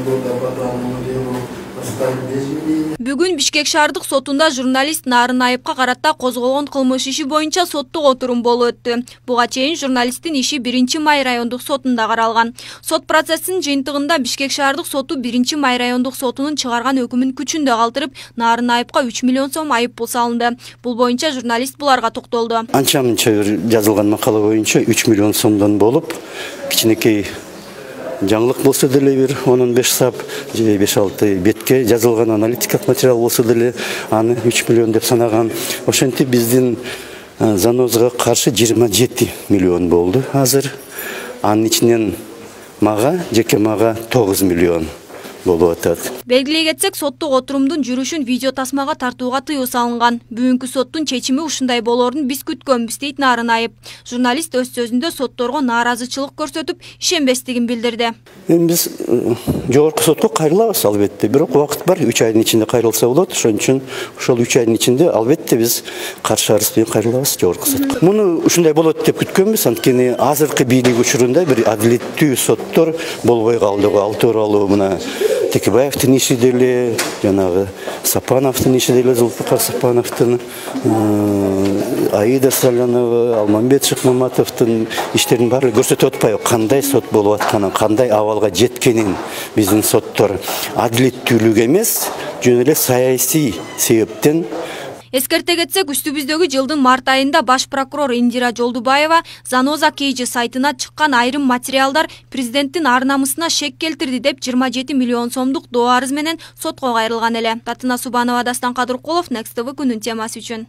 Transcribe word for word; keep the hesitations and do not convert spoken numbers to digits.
года по данному делу оставить без винения. Бүгүн Бишкек шаардык сотунда журналист Нарын Айыпка карата козголгон кылмыш иши боюнча соттук отурум болуп өттү. Буга чейин журналисттин иши биринчи май райондук сотунда каралган. Сот процессинин жыйынтыгында Бишкек шаардык соту биринчи май райондук сотунун чыгарган өкүмүн күчүндө калтырып, Нарын Айыпка үч миллион сом айып пул салынды. Бул боюнча журналист буларга токтолду. Анча-мынча жазылган макала боюнча үч миллион сомдон болуп, кичинекей жаңылык болсо деле бир он беш сап же беш алты бетке жазылган аналитикалык материал болсо деле аны үч миллион деп санаган. Ошентип биздин занозго каршы жыйырма жети миллион болду азыр. Анын ичинен мага, жеке мага тогуз миллион болуп атат. Белгилей кетсек, соттук отурумдун жүрүшүн видео тасмага тартууга тыюу салынган. Бүгүнкү соттун чечими ушундай болоорун биз күткөнбүз дейт Нарын Айып. Журналист өз сөзүндө сотторго нааразычылык көрсөтүп, ишенбестигин билдирди. Эми биз жогорку сотко кайрылабыз албетте, бирок убакыт бар, үч айдын ичинде кайрылса болот. Ошон үчүн ошол үч айдын ичинде албетте биз каршы арыз менен кайрылабыз жогорку сотко. Муну ушундай болот деп күткөнбүз, анткени азыркы бийлик учурунда бир адилеттүү соттор болбой калды. Ал тууралуу мына Текебаевдин иши деле, жанагы Сапановдун иши деле, Зулфукар Сапановдун, Аида Салянова, Алмамбет Шыкмаматовдун иштерин баары көрсөтүп атпайбы, кандай сот болуп атканын, кандай абалга жеткенин. Биздин соттор адилеттүүлүк эмес, жөн эле саясий себептен. Эскерте кетсек, үстүбүздөгү жылдын март айында баш прокурор Индира Жолдубаева Заноза Кейжи сайтына чыккан айрым материалдар президенттин ар намысына шек келтирди деп жыйырма жети миллион сомдук доо арыз менен сотко кайрылган эле. Татына Субанова, Дастан Кадыркулов, Next тэ вэ күнүн темасы үчүн.